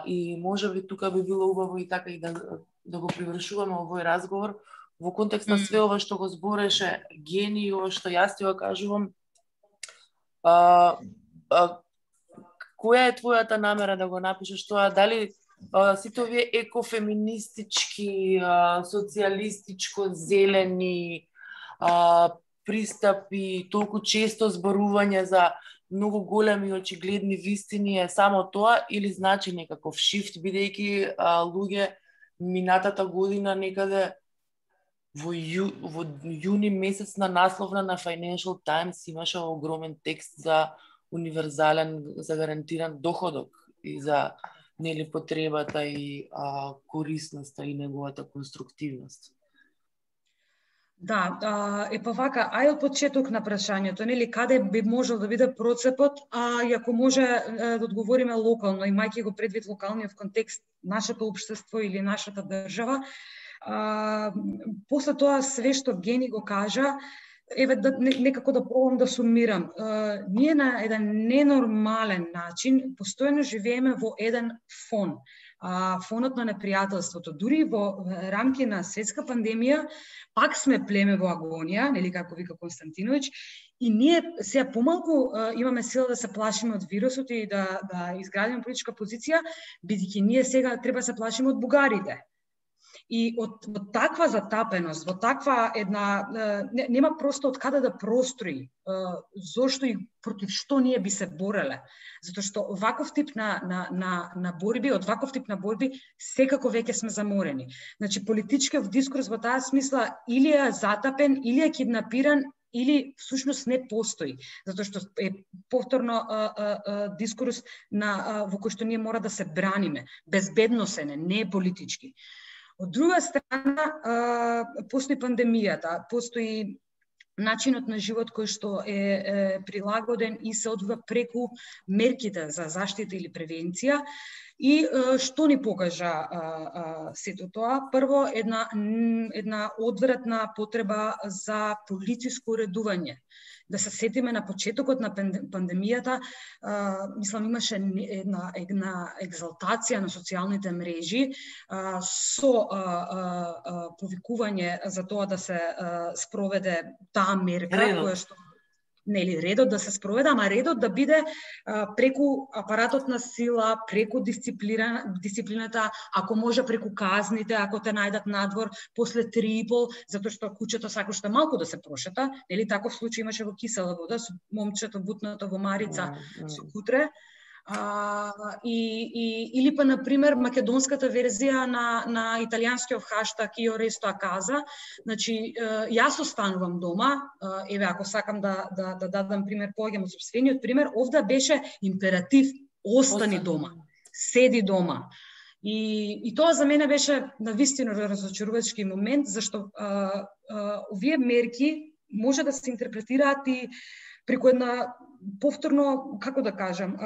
и можеби тука би било убаво и така и да го привршуваме овој разговор во контекст на све ова што го збореше Гени и ова што јас ти го кажувам. Која е твојата намера да го напишеш тоа? Дали сите овие екофеминистички, социјалистичко зелени пристапи, толку често зборување за многу големи и очигледни вистини е само тоа или значи некаков шифт, бидејќи луѓе минатата година некаде во јуни месец на насловна на Financial Times имаше огромен текст за универзален, за гарантиран доходок и за потребата и корисноста и неговата конструктивност. Да, па вака, ај од почеток на прашањето, каде би можел да биде процепот, и ако може да одговориме локално, имајќи го предвид локалниот контекст, нашето општество или нашата држава, после тоа све што Гени го кажа, еве некако да пробам да сумирам. Ние на еден ненормален начин постојано живееме во еден фон. Фонот на непријателството. Дури во рамки на светска пандемија, пак сме племе во агонија, како вика Константинович, и ние сега помалку имаме сила да се плашиме од вирусот и да изградиме политичка позиција, бидејќи ние сега треба да се плашиме од бугарите. И од таква затапеност, во таква една, нема просто од каде да прострои, зошто и против што ние би се бореле. Затоа што ваков тип на борби, од ваков тип на борби, секако веќе сме заморени. Значи, политичкиот дискурс во таа смисла или е затапен, или е киднапиран, или всушност не постои. Затоа што е повторно дискурс во кој што ние мора да се браниме, безбедносен е, не политички. Од друга страна, постои пандемијата, постои начинот на живот кој што е прилагоден и се одвива преку мерките за заштита или превенција. И што ни покажа сето тоа? Прво, една одвратна потреба за политичко уредување. Да се сетиме на почетокот на пандемијата, мислам имаше една екзалтација на социјалните мрежи со повикување за тоа да се спроведе таа мерка која што нели редот да се спроведе, ама редот да биде преку апаратот на сила, преку дисциплината, ако може преку казните, ако те најдат надвор после 3,5, затоа што кучето сакаш малку да се прошета, нели таков случај имаше во Кисела вода со момчето бутнато во Марица со кутре. Или па, например, македонската верзија на италијанскиот хаштаг Io resto a casa. Значи, јас останувам дома, еве, ако сакам да дадам пример, поаѓам од сопствениот пример, овде беше императив, остани дома, седи дома. И тоа за мене беше навистина разочарувачки момент, зашто овие мерки може да се интерпретираат и преку една повторно, како да кажам,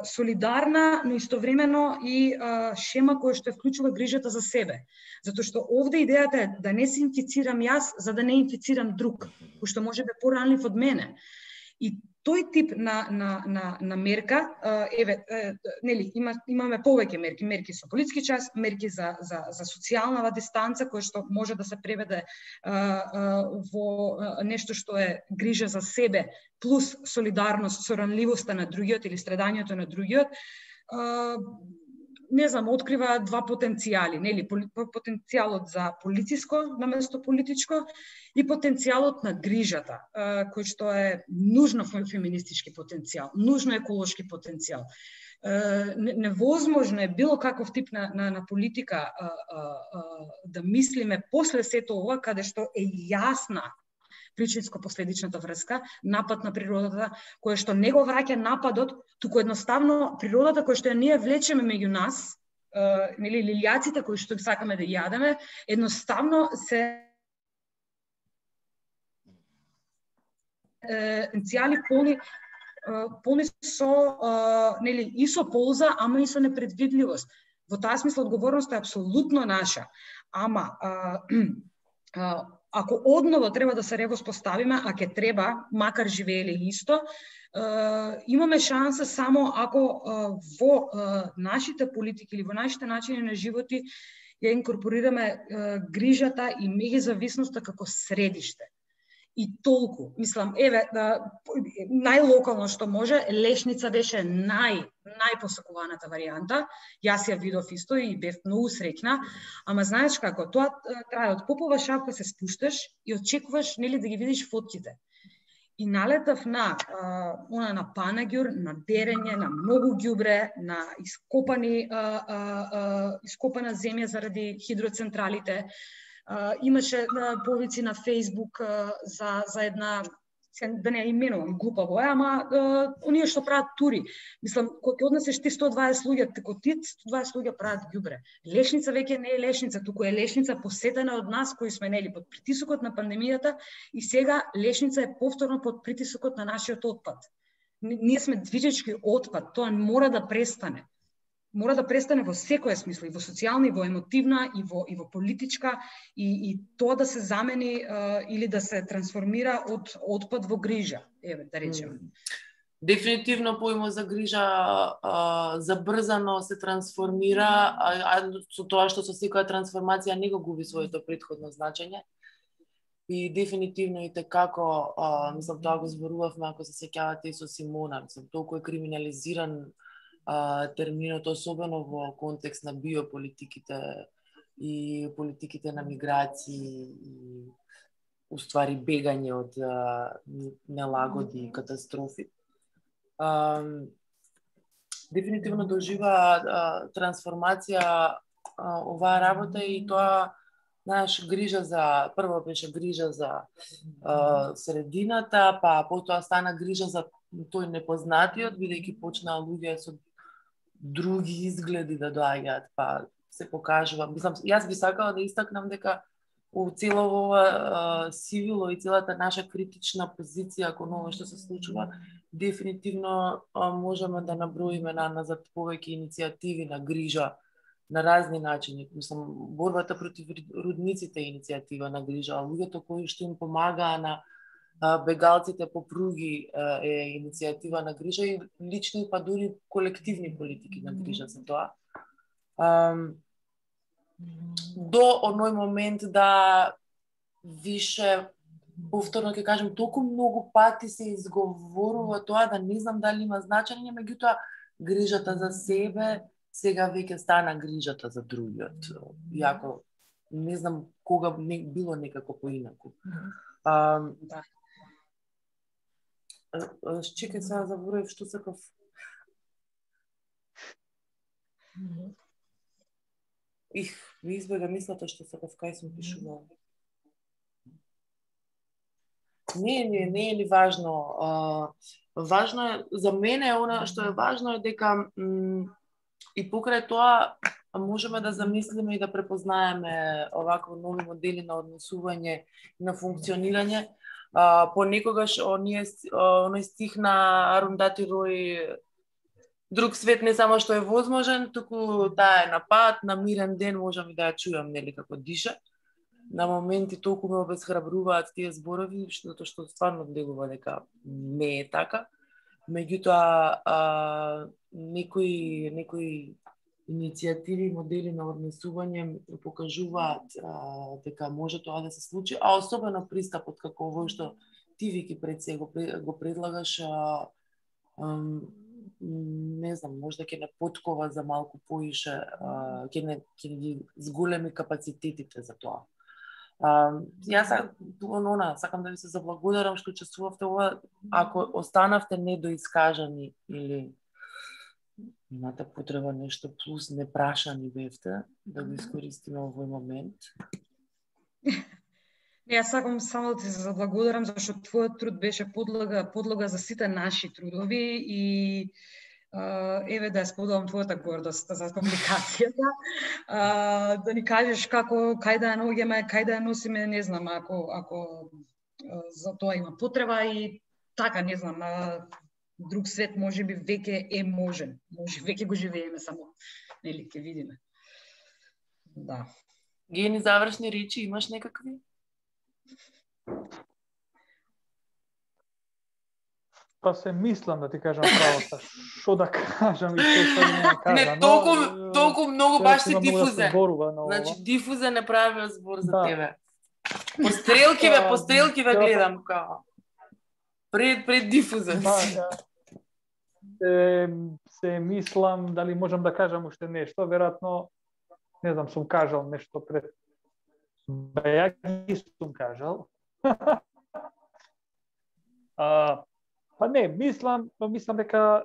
солидарна, но истовремено и шема која што вклучува грижата за себе. Затоа што овде идејата е да не се инфицирам јас, за да не инфицирам друг, кој што може да е поранлив од мене. И тој тип на мерка, еве, нели, имаме повеќе мерки, мерки со политички час, мерки за социјална дистанца, која што може да се преведе во нешто што е грижа за себе, плюс солидарност со ранливоста на другиот или страдањето на другиот. Не знам, открива два потенцијали, нели, потенцијалот за полициско наместо политичко и потенцијалот на грижата, кој што е нужно феминистички потенцијал, нужно еколошки потенцијал. Невозможно е било каков тип на политика да мислиме после сето ова, каде што е јасна причинско-последичната врска, напад на природата, кој што не го враќа нападот, туку едноставно природата која што ние влечеме меѓу нас, нели, лилјаците кои што сакаме да јадеме, едноставно се потенцијали полни со, нели, и со полза, ама и со непредвидливост. Во таа смисла одговорноста е апсолутно наша. Ама ако одново треба да се ревоспоставиме, а ќе треба, макар живееле исто, имаме шанса само ако во нашите политики или во нашите начини на животи ја инкорпорираме грижата и меѓузависноста како средиште. И толку. Мислам, еве, најлокално што може, лешница беше најпосакуваната варијанта. Јас ја видов исто и бев многу среќна, ама знаеш како, тоа трае од попова шапка се спушташ и очекуваш, нели, да ги видиш фотките. И налетав на панаѓур, на дерење, на многу ѓубре, на ископана земја заради хидроцентралите. Имаше повици на Фейсбук за една, да не именувам глупаво, ама оние што прават тури. Мислам, кога ќе однесеш ти 120 луѓе, како ти 120 луѓе прават ѓубре. Лешница веќе не е лешница, туку е лешница посетена од нас кои сме, нели, под притисокот на пандемијата и сега лешница е повторно под притисокот на нашиот отпад. Ние сме движечки отпад, тоа мора да престане. Мора да престане во секоја смисла, и во социјална, и во емотивна, и во политичка, и тоа да се замени или да се трансформира од отпад во грижа, еве, да речеме. Дефинитивно поимот за грижа забрзано се трансформира, а со тоа што со секоја трансформација не го губи своето претходно значење. И дефинитивно и како, мислам, тоа го зборувавме, ако се сеќавате и со Симона, мислам, толку е криминализиран терминот, особено во контекст на биополитиките и политиките на миграции и уствари бегање од нелагоди и катастрофи. Дефинитивно дожива трансформација оваа работа и тоа, знаеш, грижа за, прво беше грижа за средината, па потоа стана грижа за тој непознатиот, бидејќи почнаа луѓе со други изгледи да доаѓаат, па се покажува. Мислам, јас би сакала да истакнам дека у цело ова сивило и целата наша критична позиција кон ова што се случува, дефинитивно можеме да наброиме назад повеќе иницијативи на грижа на разни начини. Мислам, борбата против рудниците е иницијатива на грижа, а луѓето кои што им помагаа на бегалците по пруги е иницијатива на грижа и лични, па дури колективни политики на грижа за тоа. До оној момент да више повторно ќе кажам, толку многу пати се изговорува тоа да не знам дали има значење, меѓутоа грижата за себе сега веќе стана грижата за другиот. Иако не знам кога било некако поинаку. Да. Чекај сега заборев што сакав. Ми избега мислата што сакав кај сум пишувала. Не е ли важно. Важно е, за мене она што е важно е дека и покрај тоа можеме да замислиме и да препознаеме овакви нови модели на однесување и на функционирање. Понекогаш оној стих на Арундати Рој, друг свет не само што е возможен, туку таа е на пат, на мирен ден можам и да ја чујам, нели, како диша. На моменти толку ме обесхрабруваат тие зборови, затоа што стварно делува дека не е така. Меѓутоа, некои иницијативи, модели на однесување покажуваат дека може тоа да се случи, а особено пристапот како овој што ти, Вики, пред се го предлагаш, не знам, можда ќе не подкова за малку поише, ќе ги зголеми капацитетите за тоа. Јас сакам да ви се заблагодарам што учествувавте ова. Ако останавте недоискажани или имате потреба нешто плюс непрашани бевте, да го искористиме овој момент. Јас сакам само да ти се заблагодарам зашто твојот труд беше подлога за сите наши трудови и еве да ја споделам твојата гордост за публикацијата. Да ни кажеш кај да ја наоѓаме, кај да ја носиме, не знам, ако за тоа има потреба и така, не знам, друг свет можеби веќе е можен. Може веќе го живееме, само нели ќе видиме. Да. Гени завршни речи имаш некакви? Па се мислам да ти кажам правото, што да кажам и што не кажам. Не, толку многу баш си дифузен. Значи, дифузен е правиот збор за тебе. Пострелки гледам као. Пред дифузен. Се мислам дали можам да кажам уште нешто, веројатно не знам, сум кажал нешто пред. Ја ги сум кажал. Па не, мислам дека,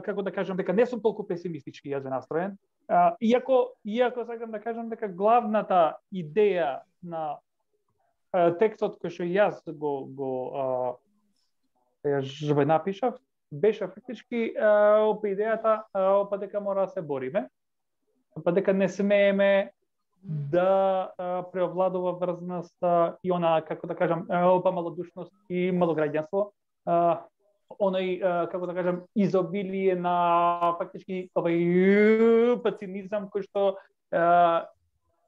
како да кажам, дека не сум толку песимистички јас настроен. Иако сакам да кажам дека главната идеја на текстот кој што јас го напишав, беше фактички идејата дека мора да се бориме, дека не смееме да преовладува врзноста и она, како да кажам, малодушност и малограѓанство, оној, како да кажам, изобилие на фактички овој цинизам кој што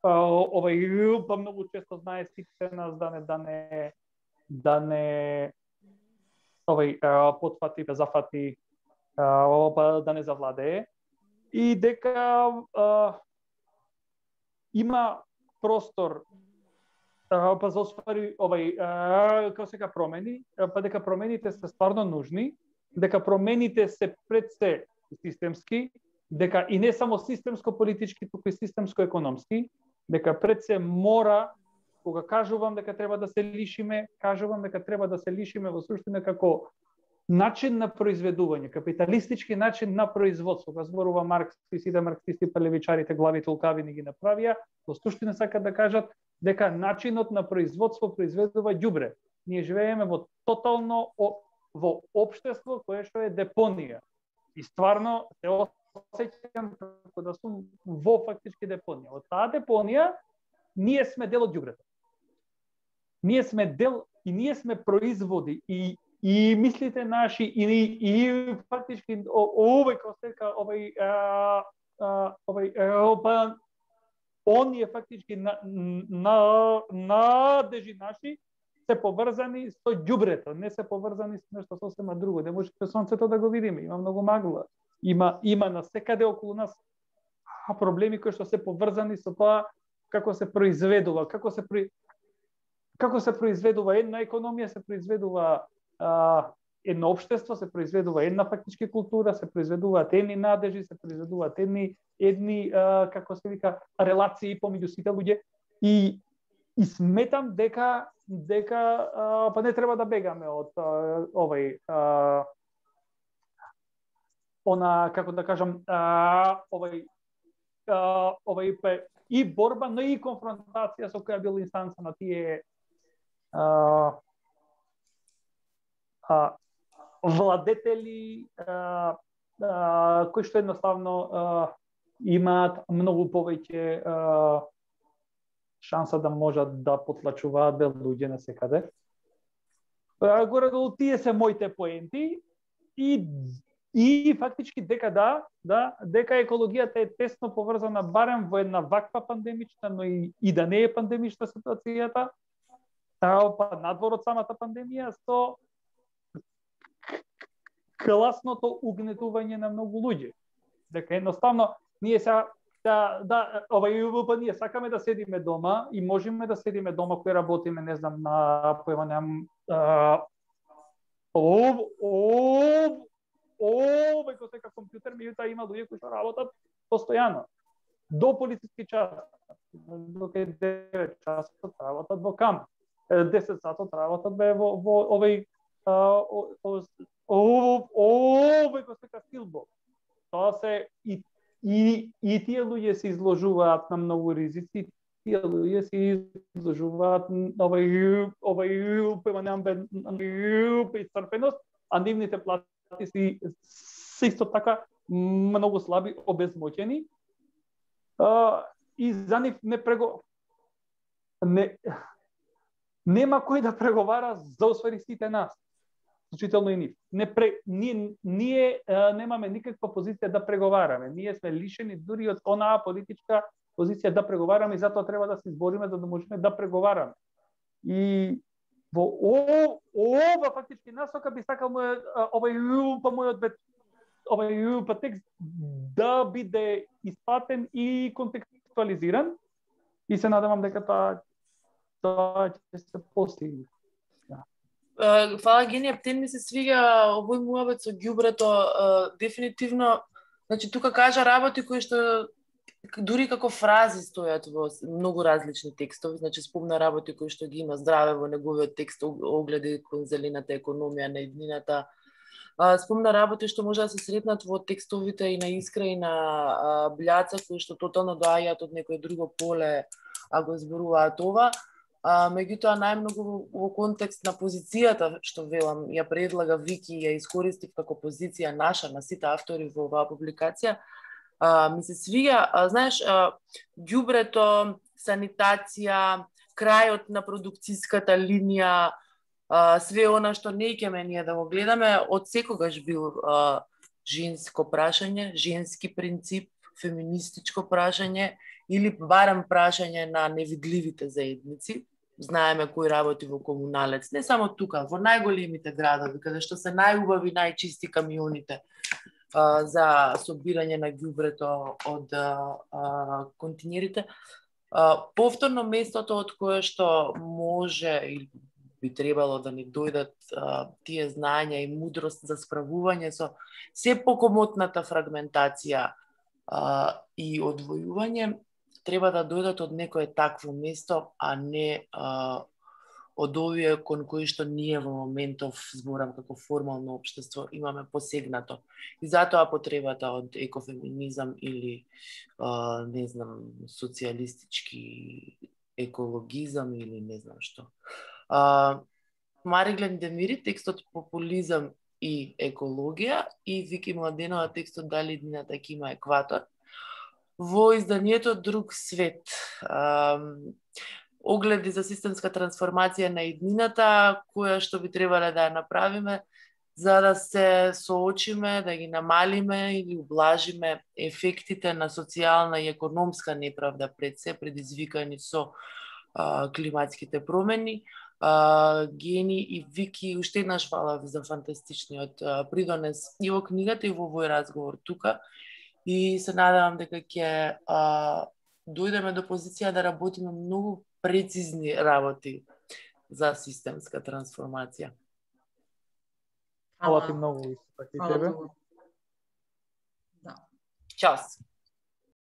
овој многу често знае сите нас да не овој потфати, да зафати, да не завладее и дека има простор па за оствари овој како се промени, па дека промените се стварно нужни, дека промените се пред се системски, дека и не само системско политички, туку и системско економски, дека пред се мора, кога кажувам дека треба да се лишиме, кажувам дека треба да се лишиме во суштина како начин на произведување, капиталистички начин на производство. Кога зборува Маркс и сите марксисти, па левичарите, главите лукави не ги направија, во суштина сакаат да кажат дека начинот на производство произведува ѓубре. Ние живееме во тотално во општество кое што е депонија. И стварно се осеќам како да сум во фактички депонија. Од таа депонија ние сме дел од ѓубрето. Ние сме дел и ние сме производи и мислите наши и фактички овој костека овој оние фактички надежи наши се поврзани со ѓубрето, не се поврзани со нешто сосема друго. Не можете сонцето да го видиме, има многу магла. Има насекаде околу нас проблеми кои што се поврзани со тоа како се произведува, како се како се произведува една економија, се произведува едно општество, се произведува една фактички култура, се произведуваат едни надежи, се произведуваат едни како се вика, релации помеѓу сите луѓе и сметам дека па не треба да бегаме од како да кажам, и борба, но и конфронтација со која била инстанца на тие владетели кои што едноставно имаат многу повеќе шанса да можат да потлачуваат луѓе на секаде. Горе-долу тие се моите поенти и фактички дека дека екологијата е тесно поврзана барем во една ваква пандемична, но и да не е пандемична ситуацијата, па надвор од самата пандемија со класното угнетување на многу луѓе. Дека едноставно ние ние сакаме да седиме дома и можеме да седиме дома кои работиме, не знам, на веќе сека компјутер, меѓутоа има луѓе кои што работат постојано. До полициски час, до 9 часот работат во камп, 10 сатот работат во овој веќе сека стилбо. Тоа се и тие луѓе се изложуваат на многу ризици, тие луѓе се изложуваат на овој исцрпеност, а нивните плати се исто така многу слаби, обезмоќени. И за нив нема кој да преговара за освари сите нас. Случително и нив. Ние немаме никаква позиција да преговараме. Ние сме лишени дури од онаа политичка позиција да преговараме и затоа треба да се избориме за да можеме да преговараме. И во ова фактички насока би сакал мојот текст да биде испатен и контекстуализиран и се надевам дека тоа ќе се постигне. Фала, Гени, птен ми се свига овој муабет со ѓубрето, дефинитивно, значи тука кажа работи кои што дури како фрази стојат во многу различни текстови, значи спомна работи кои што ги има здраве во неговиот текст, огледи кон зелената економија на иднината, спомна работи што може да се сретнат во текстовите и на Искра и на Бљаца, кои што тотално доаѓаат од некој друго поле, а го зборуваат ова. Меѓутоа најмногу во контекст на позицијата што велам ја предлага Вики и ја искористив како позиција наша на сите автори во оваа публикација, ми се свига, знаеш, ѓубрето, санитација, крајот на продукцијската линија, све она што не ќеме ние да го гледаме, од секогаш бил женско прашање, женски принцип, феминистичко прашање или барем прашање на невидливите заедници. Знаеме кој работи во Комуналец, не само тука, во најголемите градови, каде што се најубави, најчисти камионите за собирање на ѓубрето од континерите. Повторно местото од кое што може или би требало да ни дојдат тие знања и мудрост за справување со се покомотната фрагментација и одвојување, треба да дојдат од некое такво место, а не од овие кон кои што ние во моментов, зборам како формално општество, имаме посегнато. И затоа потребата од екофеминизам или, не знам, социјалистички екологизам или не знам што. Мариглен Демири, текстот Популизам и екологија, и Вики Младенова, текстот Дали иднината ќе има екватор, во изданието Друг свет. Огледи за системска трансформација на иднината, која што би требале да ја направиме за да се соочиме, да ги намалиме или ублажиме ефектите на социјална и економска неправда пред се предизвикани со климатските промени. Гени и Вики, уште еднаш фала за фантастичниот придонес и во книгата и во овој разговор тука. И се надевам дека ќе дојдеме до позиција да работиме многу прецизни работи за системска трансформација. Фала ти многу, исто така и тебе. Да. Час.